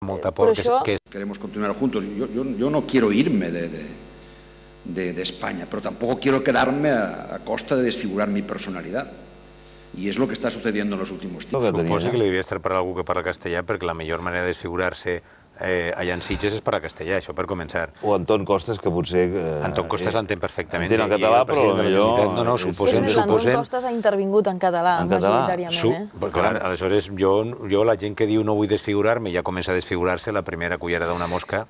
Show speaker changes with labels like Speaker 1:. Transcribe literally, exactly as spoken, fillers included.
Speaker 1: molta por.
Speaker 2: Queremos continuar juntos. Yo no quiero irme de España, pero tampoco quiero quedarme a costa de desfigurar mi personalidad. Y es lo que está sucediendo en los últimos tiempos.
Speaker 1: Suposo que li devia estar per algú que parla castellà, perquè la millor manera de desfigurar-se allà en Sitges és parlar castellà, això per començar.
Speaker 3: O Anton Costes, que potser...
Speaker 1: Anton Costes l'entén perfectament.
Speaker 3: Entén el català, però millor...
Speaker 1: No, no, suposem...
Speaker 4: Anton Costes ha intervingut en català, majoritàriament.
Speaker 1: Clar, aleshores, jo la gent que diu no vull desfigurar-me ja comença a desfigurar-se la primera cullera d'una mosca.